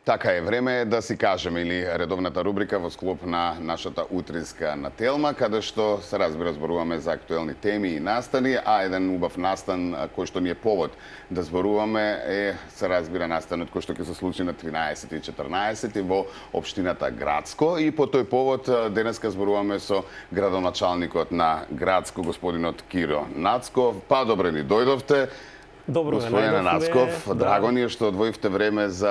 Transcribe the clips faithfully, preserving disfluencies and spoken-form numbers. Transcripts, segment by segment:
Така е, време е да си кажеме или редовната рубрика во склоп на нашата утринска нателма, каде што се разбира зборуваме за актуелни теми и настани, а еден убав настан кој што ни е повод да зборуваме е, се разбира, настанот кој што ќе се случи на тринаесети и четрнаесети во општината Грацко, и по тој повод денеска зборуваме со градоначалникот на Грацко, господинот Киро Нацков. Па добре ни дојдовте. Добро, Господине Нацков, да. драго ни е што одвоивте време за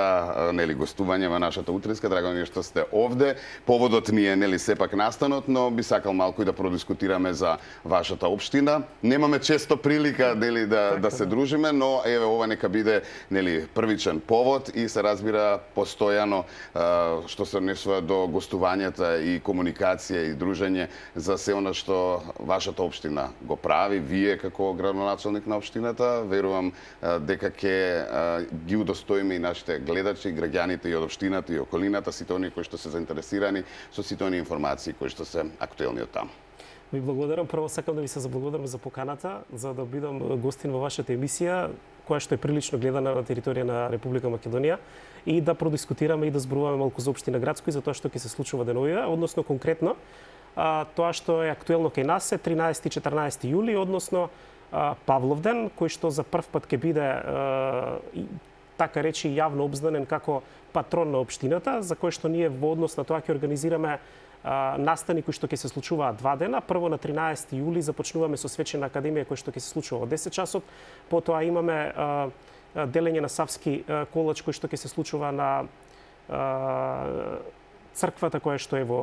нели гостување во нашата утринска, драго ни е што сте овде. Поводот ни е нели сепак настанот, но би сакал малку и да продискутираме за вашата општина. Немаме често прилика нели да така, да се да. дружиме, но еве ова нека биде нели првичен повод и се разбира постојано што се однесува до гостувањата и комуникација и дружење за се она што вашата општина го прави, вие како градоначалник на општината. Верувам дека ќе ги удостоиме и нашите гледачи, граѓаните и од општината и околината, сите оние кои што се заинтересирани со сите оние информации кои што се актуелни од таму. Ви благодарам. Прво сакам да ви се заблагодарам за поканата, за да бидам гостин во вашата емисија, која што е прилично гледана на територија на Република Македонија, и да продискутираме и да зборуваме малку за општина Грацко и за тоа што ќе се случува деновиве, односно конкретно а, тоа што е актуелно кај нас е тринаесети и четрнаесети јули, односно Павловден, кој што за прв пат ќе биде така речи јавно обзнанен како патрон на општината, за кој што ние во однос на тоа ќе организираме настани кои што ќе се случуваат два дена. Прво на тринаесети јули започнуваме со свечена академија кој што ќе се случува во десет часот, потоа имаме делење на Савски колач кој што ќе се случува на црквата која што е во,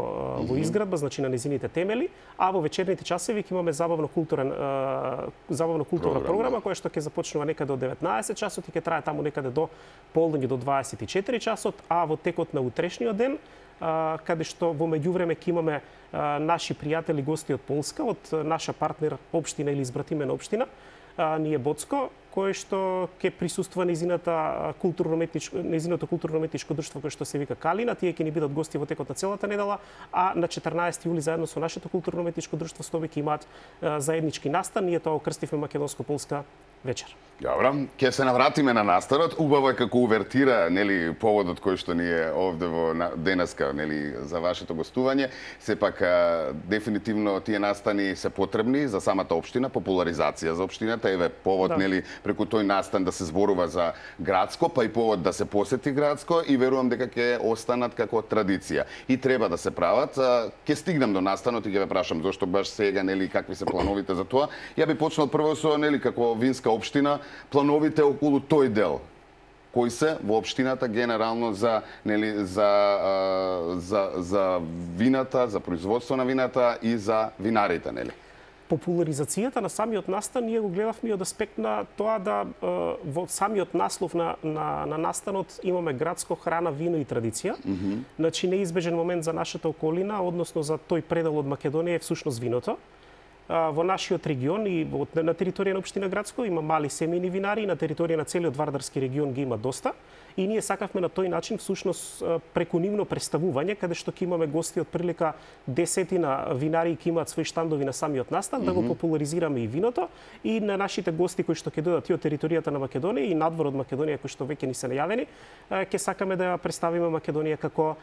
во изградба, значи на незините темели, а во вечерните часови ќе имаме забавно културен забавно културна програма, програма која што ќе започнува некаде од деветнаесет часот и ќе трае таму некаде до полдење до дваесет и четири часот, а во текот на утрешниот ден, каде што во меѓувреме ќе имаме наши пријатели гости од Полска, од наша партнер општина или избратимена општина, ние Боцко, кој што ќе присуствува незината културно-уметничко незиното културно-уметничко друштво кој што се вика Калина. Тие ќе ни бидат гости во текот на целата недела, а на четрнаесети јули заедно со нашето културно-уметничко друштво Стоби ќе имаат заеднички настан. Ние тоа окрстивме македонско-полска вечер. Добро, ќе се навратиме на настанот. Убаво е како увертира, нели, поводот кој што ни е овде во денеска, нели, за вашето гостување. Сепак дефинитивно тие настани се потребни за самата општина, популаризација за општината. Еве повод, да. Нели, преку тој настан да се зборува за Грацко, па и повод да се посети Грацко, и верувам дека ќе останат како традиција. И треба да се прават. Ќе стигнам до настанот и ќе ве прашам зошто баш сега, нели, какви се плановите за тоа. Ја би почнал прво со, нели, како винска општина, плановите околу тој дел. Кои се во општината генерално за, нели, за, за, за вината, за производство на вината и за винарите, нели? Популаризацијата на самиот настан ние го гледавме од аспект на тоа да во самиот наслов на, на, на настанот имаме Грацко, храна, вино и традиција. Mm -hmm. Значи неизбежен момент за нашата околина, односно за тој предел од Македонија е всушност виното. Во нашиот регион и на територија на општина Грацко има мали семејни винари, и на територија на целиот Вардарски регион ги има доста. И ние сакавме на тој начин всушност преку нивно представување, каде што ќе имаме гости од прилика десетина винари ќе имаат свои штандови на самиот настан, mm -hmm. да го популаризираме и виното, и на нашите гости кои што ќе дојдат и од територијата на Македонија и надвор од Македонија кои што веќе ни се најавени, ќе сакаме да ја представиме Македонија како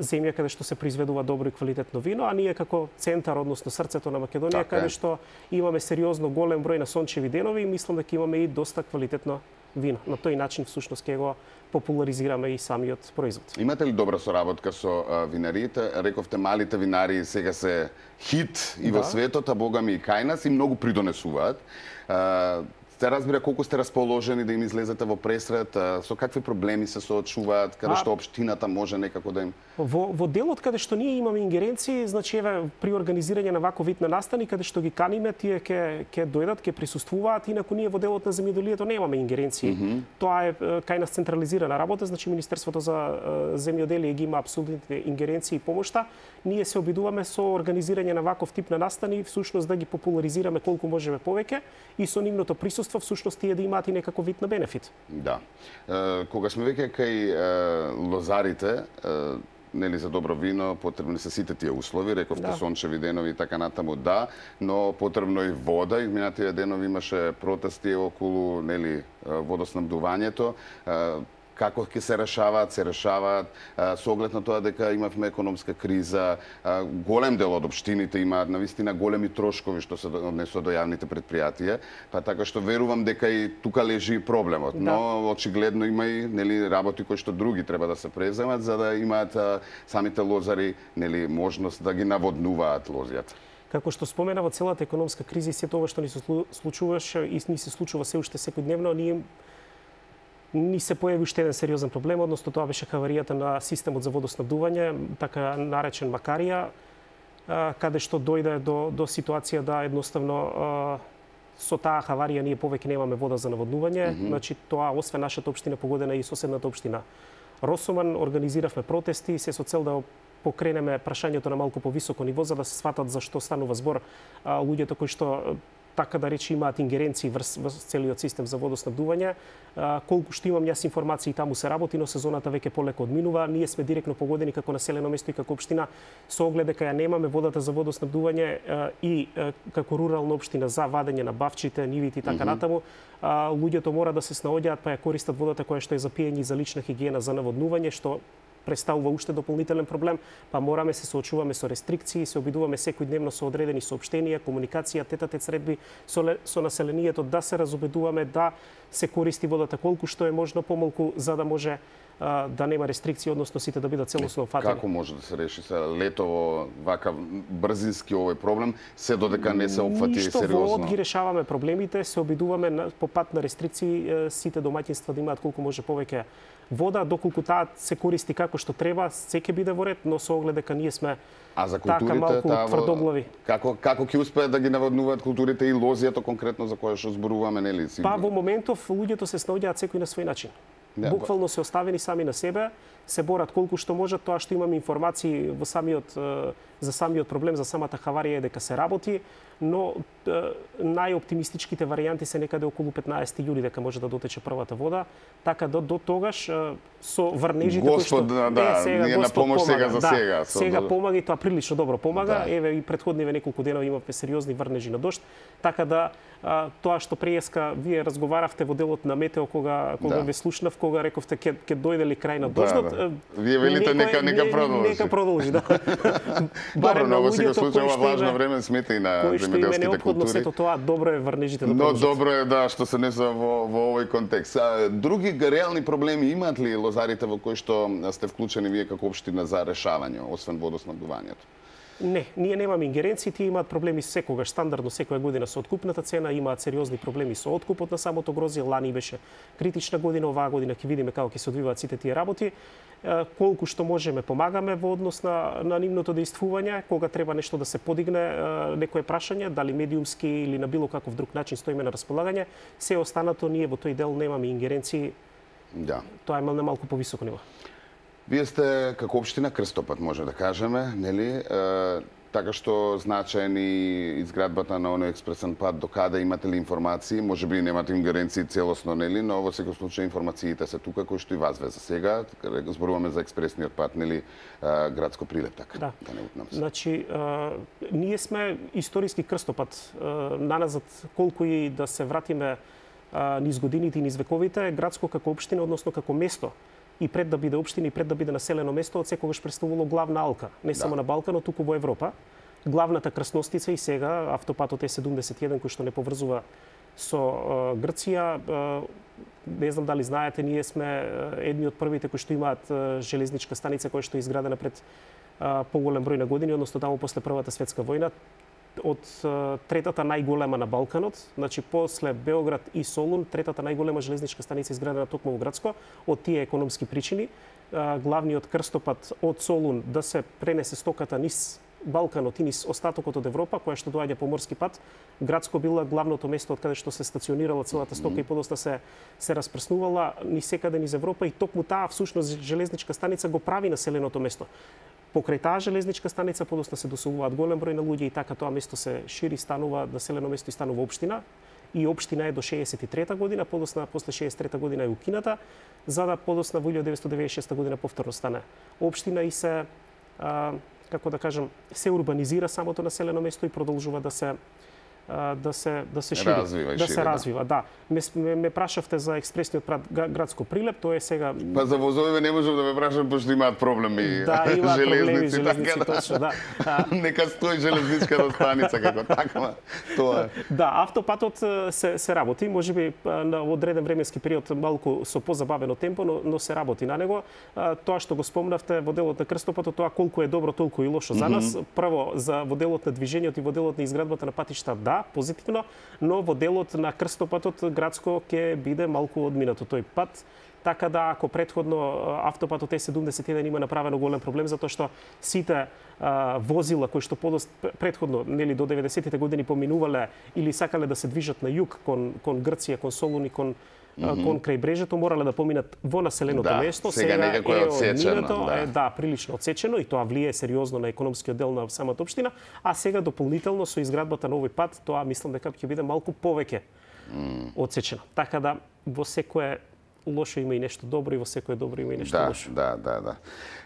земја каде што се произведува добро и квалитетно вино, а ние како центар, односно срцето на Македонија, така, каде што имаме сериозно голем број на сончеви денови и мислам дека имаме и доста квалитетно вино. На тој начин всушност ќе го популаризираме и самиот производ. Имате ли добра соработка со а, винариите? Рековте малите винари сега се хит и да. Во светот, а богами и кај нас, и многу придонесуваат. А, Се разбира колку сте расположени да им излезете во пресред, со какви проблеми се соочуваат, каде што општината може некако да им... Во, во делот каде што ние имаме ингеренции, значи еве при организирање на ваков вид на настани, каде што ги каниме, тие ќе ќе дојдат, ќе присуствуваат, инаку ние во делот на земјоделието немаме ингеренции. Mm -hmm. Тоа е кај нас централизирана работа, значи Министерството за земјоделие ги има апсолутните ингеренции и помошта. Ние се обидуваме со организирање на ваков тип на настани, всушност да ги популаризираме колку можеме повеќе и со нивното присуство всушност тие да имаат и некако вид на бенефит. Да. Е, кога сме веќе кај е, лозарите, е, нели за добро вино потребни се сите тие услови, рековте да. Сончеви денови и така натаму, да, но потребно и вода. Изминатите денови имаше протести околу, нели, водоснабдувањето. како ќе се решаваат, се решаваат со оглед на тоа дека имавме економска криза, голем дел од општините имаат навистина големи трошкови што се однесува до јавните предпријатија, па така што верувам дека и тука лежи проблемот, да. Но очигледно има и нели работи кои што други треба да се преземат за да имаат а, самите лозари нели можност да ги наводнуваат лозјата. Како што спомена во целата економска криза и сето ова што ни се случуваше и ни се случува се уште секојдневно, ние ни се појави уште еден сериозен проблем, односно тоа беше хаваријата на системот за водоснабдување, така наречен Макарија, каде што дојде до, до ситуација да едноставно со таа хаварија ние повеќе немаме вода за наводнување. Mm -hmm. Значи тоа освен нашата општина погодена и соседната општина Росоман, организиравме протести се со цел да покренеме прашањето на малку повисоко ниво за да се сватат за што станува збор а, луѓето кои што така да речи имаат ингеренции врз, врз целиот систем за водоснабдување. А, колку што имам јас информации таму се работи, но сезоната веќе полеко одминува. Ние сме директно погодени како населено место и како општина со оглед дека ја немаме водата за водоснабдување а, и а, како рурална општина за вадење на бавчите, нивите и така mm -hmm. натаму. А, луѓето мора да се снаоѓаат па ја користат водата која што е за пиење и за лична хигиена за наводнување, што представува уште дополнителен проблем, па мораме се соочуваме со рестрикции, се обидуваме секојдневно со одредени соопштенија, комуникација, тет-а-тет средби со, со населението да се разобедуваме да се користи водата колку што е можно помалку за да може а, да нема рестрикции, односно сите да бидат целосно фатени. Како може да се реши се летово вака брзински овој проблем, се додека не се опфати Ништо сериозно? Ништо ги решаваме проблемите, се обидуваме на, по пат на рестрикции сите домаќинства да имаат колку може повеќе вода, доколку таа се користи како што треба, се ќе биде во ред, но со оглед дека ние сме а за така малку таа, тврдоглави. Како како ќе успеат да ги наводнуваат културите и лозијата конкретно за која што зборуваме, нели? Па во моментов луѓето се снаоѓаат секој на свој начин. Да, буквално се оставени сами на себе, се борат колку што можат, тоа што имаме информации во самиот за самиот проблем, за самата хаварија е дека се работи, но најоптимистичките варијанти се некаде околу петнаесети јули дека може да дотече првата вода, така да до тогаш со врнежите кои што да, да, е, сега ние на помош сега за да, сега. Сега помага и тоа прилично добро помага. Да. Еве и претходниве неколку денови имавме сериозни врнежи на дожд, така да а, тоа што преска вие разговаравте во делот на метео кога кога да. ве слушнав, кога рековте ќе ќе дојде ли крај на дождот. Да, да. Вие велите нека нека продолжи. Нека продолжи, да. Добро, но во секој случај ова влажно време смета и на земјоделските култури. Сето тоа добро е врнежите да продолжат. Но добро е да што се несува во во овој контекст. А, други реални проблеми имаат ли лозарите во кои што сте вклучени вие како општина за решавање, освен водоснабдувањето? Не, ние немаме ингеренции, тие имаат проблеми секогаш, стандардно секоја година со откупната цена, имаат сериозни проблеми со откупот на самото грозје, лани беше критична година, оваа година ќе видиме како ќе се одвиваат сите тие работи. Колку што можеме помагаме во однос на, на нивното действување, кога треба нешто да се подигне, некое прашање, дали медиумски или на било каков друг начин стоиме на располагање, се останато ние во тој дел немаме ингеренции. Да. Тоа е на малку повисоко ниво. Вие сте како општина крстопат, може да кажеме, нели? Е, така што значаен и изградбата на оној експресен пат, до каде имате ли информации? Може би немате ингеренции целосно, нели? Но во секој случај информациите се тука, кои што и вас ве за сега. Зборуваме за експресниот пат, нели? Градско Прилеп, така. Да. Да не утнам се. Значи, а, ние сме историски крстопат. А, наназад, колку и да се вратиме а, низ годините и низ вековите, Градско како општина, односно како место, и пред да биде општина и пред да биде населено место, од секогаш представувало главна алка, не само да. на Балканот, туку во Европа. Главната крстностица и сега автопатот Е седумдесет и еден кој што не поврзува со uh, Грција. Uh, не знам дали знаете, ние сме uh, едни од првите кои што имаат uh, железничка станица која што е изградена пред uh, поголем број на години, односно таму после Првата светска војна, од uh, третата најголема на Балканот, значи после Београд и Солун, третата најголема железничка станица изградена токму во Градско, од тие економски причини. Uh, главниот крстопат од Солун да се пренесе стоката низ Балканот и низ остатокот од Европа, која што доаѓа по морски пат. Градско била главното место од каде што се стационирала целата стока mm -hmm. и подоцна се се распрснувала ни секаде низ Европа и токму таа всушност железничка станица го прави населеното место. Покрај таа железничка станица подоцна се доселуваат голем број на луѓе и така тоа место се шири, станува населено место и станува општина. И општина е до шеесет и трета година, подоцна после шеесет и трета година е укината, за да подоцна во илјадесетстотини деветдесет и шеста година повторно стане општина и се а, како да кажам, се урбанизира самото населено место и продолжува да се да се да се шири, развива, да шири, се да. развива, да. Ме, ме, ме прашавте за експресниот градско прилеп, тоа е сега. Па за возовиве не можам да ме прашам пошто имаат проблеми. Да, имаат проблеми железници, железници, така, точно, да. Нека стои железничката станица како таква. Тоа е. Да, автопатот се се работи, можеби на одреден временски период малку со позабавено темпо, но, но се работи на него. Тоа што го спомнавте во делот на крстопатот, тоа колку е добро, толку и лошо за нас. Mm -hmm. Прво за во делот на движењето и во делот на изградбата на патишта, да, позитивно, но во делот на крстопатот градско ќе биде малку одминато тој пат. Така да, ако предходно автопатот Е седумдесет и еден има направено голем проблем, затоа што сите а, возила кои што подост предходно, нели до деветдесетите години поминувале или сакале да се движат на југ кон кон Грција, кон Солуни, кон Mm -hmm. кон крај брежето, морале да поминат во населеното да, место. Сега, сега некако е одсечено. Да. Е, да, прилично одсечено и тоа влие сериозно на економскиот дел на самата општина, а сега дополнително со изградбата на овој пат, тоа мислам дека ќе биде малку повеќе mm. одсечено. Така да во секое лошо има и нешто добро и во секое добро има и нешто да, лошо. Да, да, да.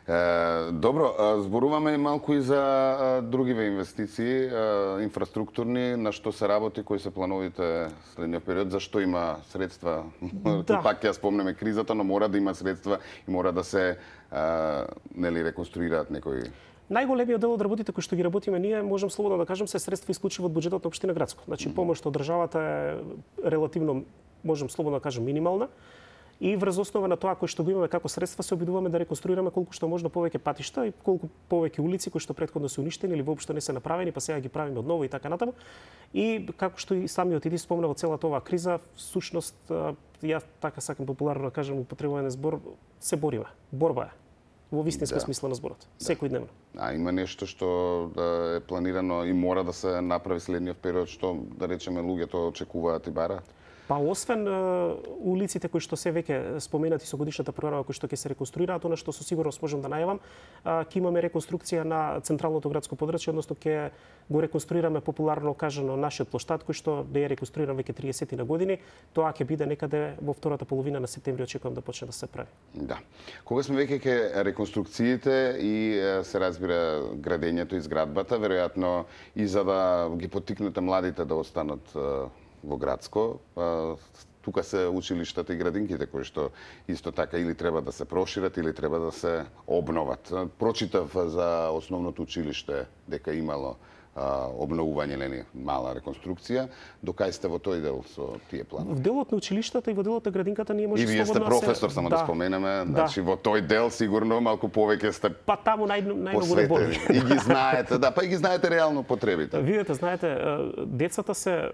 Е, добро, зборуваме малку и за а, другиве инвестиции, а, инфраструктурни, на што се работи, кои се плановите следниот период, зашто има средства? Да. Пак ќе спомнеме кризата, но мора да има средства и мора да се а, нели реконструираат некои. Најголемиот дел од работите кои што ги работиме ние, можам слободно да кажам, се средства исклучиво од буџетот на општина Градско. Значи, помош од државата е релативно, можам слободно да кажам, минимална. И врз основа на тоа кој што го имаме како средства се обидуваме да реконструираме колку што можно повеќе патишта и колку повеќе улици кои што претходно се уништени или воопшто не се направени, па сега ги правиме одново и така натаму. И како што и самиот Иди спомна во целата оваа криза, всушност ја така сакам популарно да кажам, употребуваме збор, се бориме. Борба е. Во вистинска да. смисла на зборот. Да. Секојдневно. А има нешто што да е планирано и мора да се направи следниот период, што да речеме луѓето очекуваат и бараат? Па освен uh, улиците кои што се веќе споменати со годишната програма кои што ќе се реконструираат, она што со сигурност можам да најавам, uh, ќе имаме реконструкција на централното градско подрачје, односно ќе го реконструираме популарно кажано нашиот плоштад кој што не е реконструиран веќе триесет на години. Тоа ќе биде некаде во втората половина на септември, очекувам да почне да се прави. Да. Кога сме веќе ке реконструкциите и се разбира градењето и зградбата, веројатно и за да ги поттикнете младите да останат во Градско, тука се училиштата и градинките кои што исто така или треба да се прошират или треба да се обноват. Прочитав за основното училиште дека имало обновување, нели, мала реконструкција. Докај сте во тој дел со тие планови? В делот на училиштата и во делот на градинката ние може слободно. И вие сте професор, само да, да споменеме, значи да. Во тој дел сигурно малку повеќе сте па таму нај најмногу не боли. И ги знаете, да, па и ги знаете реално потребите. Видете, знаете, децата се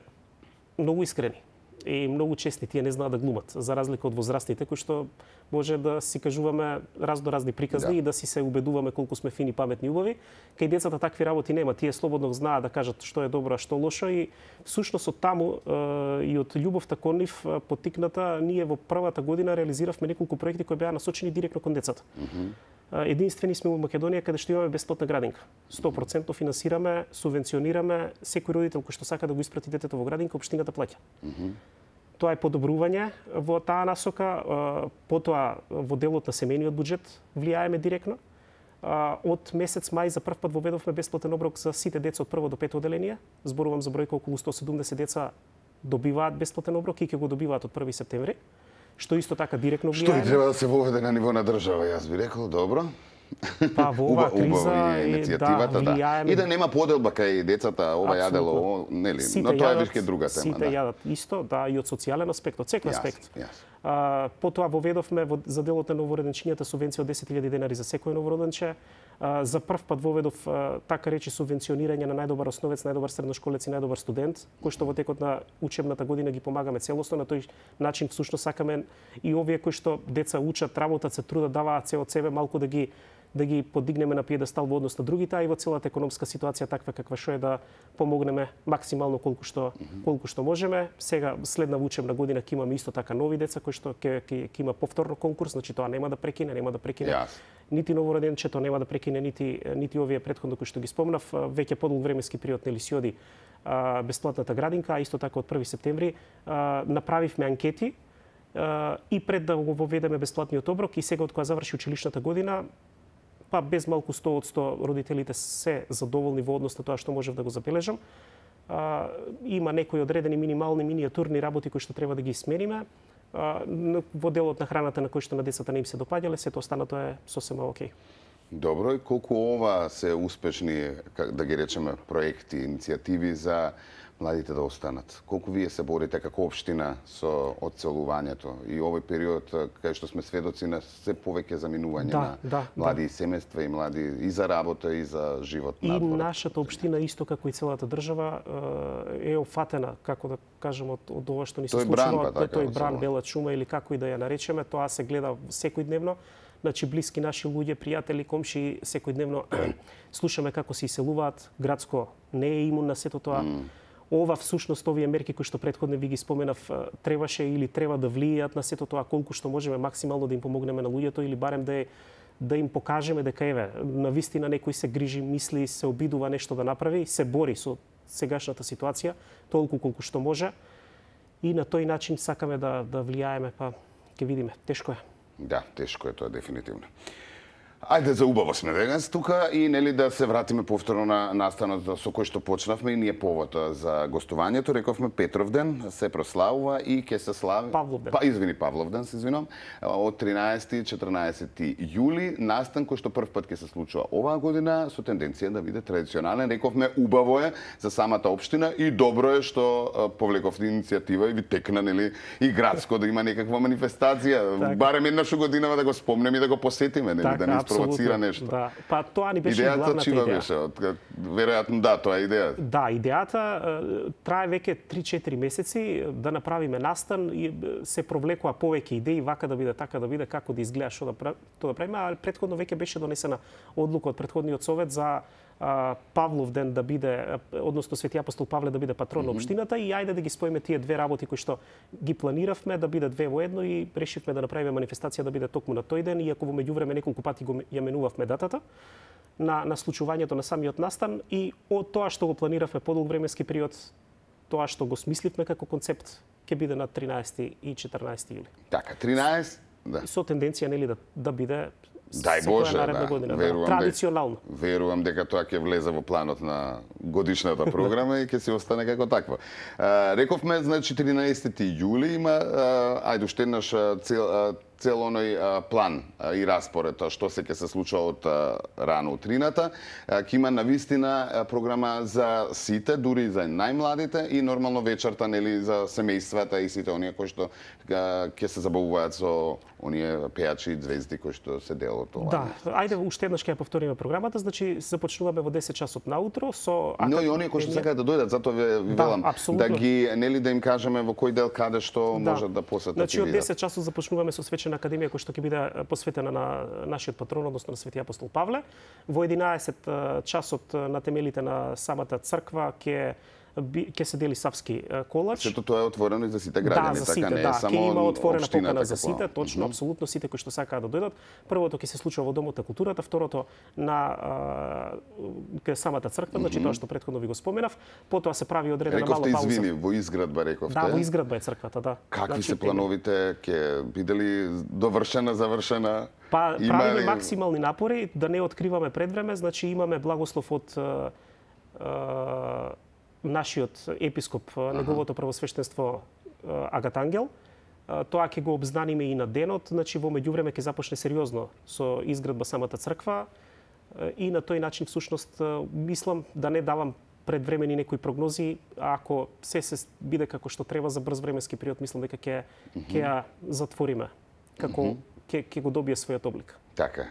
многу искрени и многу честни, тие не знаат да глумат, за разлика од возрастните кои што може да си кажуваме раздоразни приказни да. И да си се убедуваме колку сме фини, паметни, убави. Кај децата такви работи нема, тие слободно знаат да кажат што е добро, а што лошо и всушност од таму и од љубовта кон нив поттикната, ние во првата година реализиравме неколку проекти кои беа насочени директно кон децата. Mm -hmm. Единствени сме во Македонија каде што имаме бесплатна градинка. сто проценти финансираме, субвенционираме, секој родител кој што сака да го испрати детето во градинка, општината плаќа. Mm -hmm. Тоа е подобрување во таа насока, потоа во делот на семејниот буџет влијаеме директно. Од месец мај за прв пат воведовме бесплатен оброк за сите деца од прво до пето оделение. Зборувам за бројка околу сто седумдесет деца добиваат бесплатен оброк и ќе го добиваат од први септември, што исто така директно влијае. Што и треба да се воведе на ниво на држава, јас би рекол, добро. Па во оваа криза и иницијативата, да, влијаеме... И да нема поделба кај децата, ова јадело, нели, но тоа е вишке друга тема. Сите да. јадат исто, да, и од социјален аспект, од секој аспект. Јас, јас. А, потоа воведовме во, за делот на новороденчињата субвенција од десет илјади денари за секој новороденче. А, за прв пат воведов а, така речи субвенционирање на најдобар основец, најдобар средношколец и најдобар студент, кој што во текот на учебната година ги помагаме целосно. На тој начин всушност сакаме и овие кои што деца учат, работат, се трудат, даваат се од себе малку да ги да ги подигнеме на пиедестал во однос на другите, а и во целата економска ситуација таква каква што е да помогнеме максимално колку што колку што можеме. Сега следна учебна година ќе имаме исто така нови деца кои што ќе ќе има повторно конкурс, значи тоа нема да прекине, нема да прекине. Yes. Нити новороденчето нема да прекине, нити нити овие претходно кои што ги спомнав, веќе подолг временски период нели си оди а, бесплатната градинка, а исто така од први септември а, направивме анкети а, и пред да го воведеме бесплатниот оброк и сега од кога заврши училишната година, па без малку сто од сто родителите се задоволни во однос на тоа што можев да го забележам. а, има некои одредени минимални миниатурни работи кои што треба да ги смениме. А, во делот на храната на кој што на децата не им се допаѓале, сето останато е сосема окей. Добро, и колку ова се успешни, да ги речеме, проекти, иницијативи за младите да останат? Колку вие се борите како општина со одселувањето и овој период кај што сме сведоци на се повеќе заминување да, на да, млади да. семејства и млади и за работа и за живот и надвор? И нашата општина исто како и целата држава е офатена, како да кажем, од, од ова што ни се тој случува, бран, па, тој бран, бела чума или како и да ја наречеме, тоа се гледа секојдневно. Значи, блиски наши луѓе, пријатели, комши, секојдневно слушаме како се иселуваат. Градско не е имун на сето тоа. Mm. Ова всушност, овие мерки кои што претходно ви ги споменав, требаше или треба да влијаат на сето тоа колку што можеме максимално да им помогнеме на луѓето или барем да, е, да им покажеме дека еве, на вистина некој се грижи, мисли, се обидува нешто да направи, се бори со сегашната ситуација толку колку што може. И на тој начин сакаме да да влијаеме, па ќе видиме, тешко е. Да, тешко е тоа дефинитивно. Ајде за убаво сме денес тука и нели да се вратиме повторно на настанот со кој што почнавме и ние повод за гостувањето. Рековме Петровден се прославува и ќе се слави Павловден. Па извини Павловден, се извинувам, од тринаесети и четрнаесети јули, настан кој што прв пат ќе се случува оваа година со тенденција да биде традиционален. Рековме убаво е за самата општина и добро е што повлековте иницијатива и ви текна нели и градско да има некаква манифестација, так. барем еднаш годинава да го спомнеме и да го посетиме, нели, так, да не провоцира нешто. Да. Па тоа ни беше идејата главната чива идеја. беше? Веројатно да, тоа е идејата. Да, идејата трае веќе три-четири месеци да направиме настан и се провлекува повеќе идеи, вака да биде, така да биде, како да изгледа, што да прави, тоа да правиме, а претходно веќе беше донесена одлука од претходниот совет за Павловден да биде, односно Свети апостол Павле да биде патрон на општината и ајде да ги споиме тие две работи кои што ги планиравме да бидат две во едно и решивме да направиме манифестација да биде токму на тој ден, иако во меѓувреме неколку пати го ја менувавме датата на на случувањето на самиот настан и од тоа што го планиравме подолг временски период, тоа што го смисливме како концепт ќе биде на тринаесети и четрнаесети јули. Така, тринаесет, да. Со тенденција нели да да биде Дај Боже, да, година, верувам, да, традиционално. Дека, верувам дека тоа ќе влезе во планот на годишната програма и ќе се остане како таква. А, рековме, значи, тринаесети јули има, а, ајде уште еднаш цел, а, цел оној а, план а, и распоред, а, што се ќе се случува од а, рано утрината. Ќе има навистина програма за сите, дури и за најмладите и нормално вечерта, нели, за семејствата и сите оние кои што ќе се забавуваат со оние пејачи и звезди кои што се дел од ова. Да, ајде уште еднаш ќе ја повториме програмата, значи започнуваме во десет часот наутро со Но и оние кои што сакаат да дојдат, затоа ви, ви да, велам абсолютно. да ги нели да им кажеме во кој дел каде што да. можат да посетат. Значи од десет часот започнуваме со свечена академија која што ќе биде посветена на нашиот патрон, односно на Свети апостол Павле. Во единаесет часот на темелите на самата црква ќе ќе се дели Савски колач. Сето тоа е отворено и за сите граѓани, да, за сите, така не е да, само ќе има отворена покана за како... сите, точно, mm -hmm. апсолутно сите кои што сакаат да дојдат. Првото ќе се случува во Домот на културата, второто на кај самата црква, значи mm -hmm. тоа што претходно ви го споменав. Потоа се прави одредена мала пауза. Рековте, извини, во изградба рековте. Да, во изградба е црквата, да. Какви значи, се плановите? Ќе биде ли довршена, завршена? Па Има правиме ли... максимални напори да не откриваме пред време, значи имаме благослов од нашиот епископ, неговото првосвештенство Агатангел. Тоа ќе го обзнаниме и на денот, значи во меѓувреме ќе започне сериозно со изградба самата црква и на тој начин всушност мислам да не давам предвремени некои прогнози, ако се се биде како што треба за брз временски период, мислам дека ќе ќе ја затвориме како ќе ќе го добие својот облик. Така,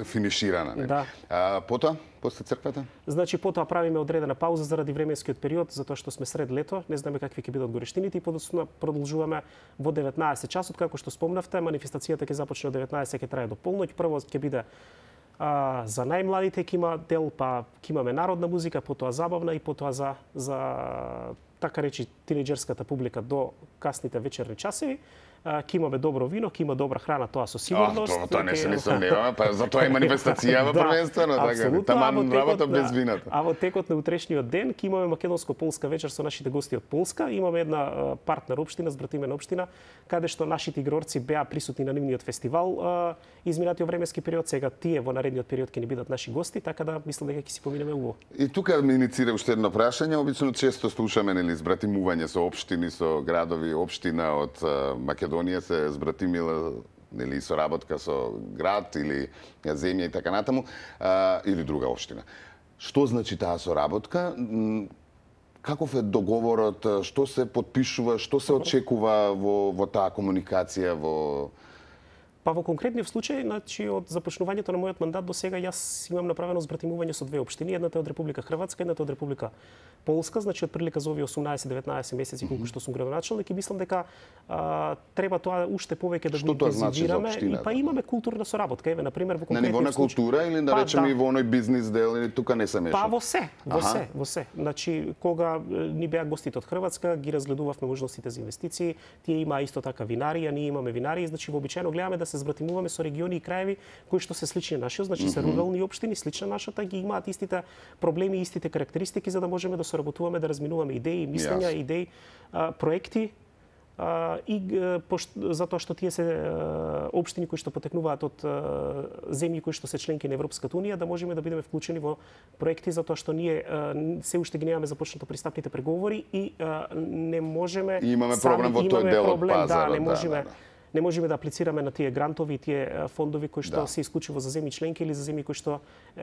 финиширана, не? Да. А, потоа, после црквата? Значи, потоа правиме одредена пауза заради временскиот период, затоа што сме сред лето, не знаеме какви ќе бидат горештините и подоцна продолжуваме во деветнаесет часот, како што спомнавте, манифестацијата ќе започне од деветнаесет, ќе трае до полноќ. Прво ќе биде а, за најмладите ќе има дел, па ќе имаме народна музика, потоа забавна и потоа за за така речи тинеџерската публика до касните вечерни часови. ќе имаме добро вино, ќе има добра храна, тоа со сигурност. А, тоа, тоа не се не сомневаме, па за тоа е манифестацијава да, првенствено, така. Таман работа без вината. А во текот на утрешниот ден ќе имаме македонско-полска вечер со нашите гости од Полска. Имаме една партнер општина, збратимена општина, каде што нашите игрорци беа присутни на нивниот фестивал изминатиот временски период. Сега тие во наредниот период ќе ни бидат наши гости, така да мислам дека ќе си поминеме убаво. И тука ми иницира уште едно прашање. Обично често слушаме нели збратимување со општини, со градови, општина од Македонија се збратимила нели соработка со град или земја и така натаму, а, или друга општина. Што значи таа соработка? Каков е договорот? Што се подпишува? Што се очекува во, во таа комуникација? Во... Па во конкретниот случај, значи од започнувањето на мојот мандат до сега јас имам направено збратимување со две општини, едната е од Република Хрватска, едната од Република Полска, значи од прилика за овие осумнаесет-деветнаесет месеци колку што сум градоначелник и мислам дека а, треба тоа уште повеќе да го интензивираме значи и па имаме културна соработка. Еве на пример во конкретниот случај. На ниво на култура или да па, речеме да. и во оној бизнис дел или тука не се меша? Па во се, во Аха. се, во се. Значи кога ни беа гостите од Хрватска, ги разгледувавме можностите за инвестиции, тие имаа исто така винарија, ние имаме винарии, значи вообичаено гледаме да се збратимуваме со региони и краеви кои што се слични на нашиот, значи се рурални општини, слична нашата, ги имаат истите проблеми, истите карактеристики за да можеме да соработуваме, да разминуваме идеи, мислења, yes. идеи, а, проекти а, и пошт, затоа што тие се а, општини кои што потекнуваат од а, земји кои што се членки на Европската унија, да можеме да бидеме вклучени во проекти затоа што ние а, се уште ги немаме започнато пристапните преговори и а, не можеме и имаме проблем во тој дел од пазарот, да, не можеме да, да. Не можеме да аплицираме на тие грантови, тие фондови кои што да. се исклучиво за земји членки или за земји кои што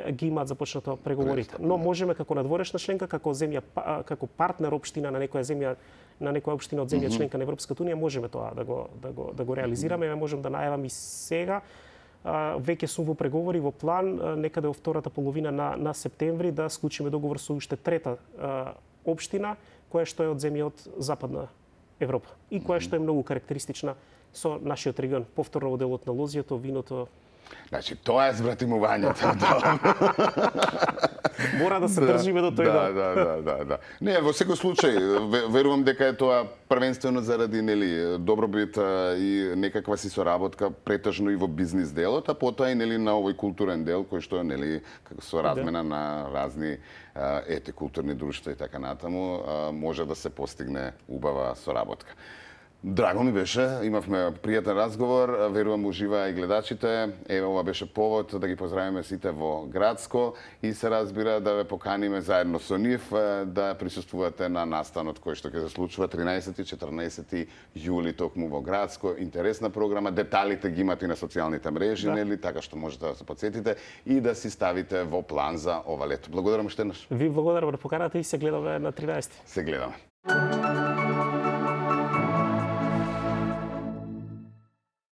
ги имаат започнато преговорите. Но можеме како надворешна членка, како земја, како партнер општина на некоја земја, на некоја општина од земја членка на Европската унија, можеме тоа да го да го да го реализираме. Ја можам да најавам и сега. Веќе сум во преговори, во план некаде во втората половина на на септември да склучиме договор со уште трета општина која што е од земја од Западна Европа и која што е многу карактеристична со нашиот регион, повторно во делот на лозјето, виното. Значи, тоа е збратимувањето. Мора да се држиме до тој да, да, да, да, да. Не, во секој случај, верувам дека е тоа првенствено заради нели добробит и некаква си соработка претежно и во бизнис делот, а потоа и нели на овој културен дел кој што нели со размена да. на разни ети културни друштва и така натаму може да се постигне убава соработка. Драго ми беше, имавме пријатен разговор, верувам уживаа и гледачите. Еве ова беше повод да ги поздравиме сите во Градско и се разбира да ве поканиме заедно со нив да присуствувате на настанот кој што ќе се случува тринаесети и четрнаесети јули токму во Градско. Интересна програма, деталите ги имате и на социјалните мрежи, да. нели, така што можете да се потсетите и да си ставите во план за ова лето. Благодарам уште еднаш. Ви благодарам да поканата и се гледаме на тринаесети. Се гледаме.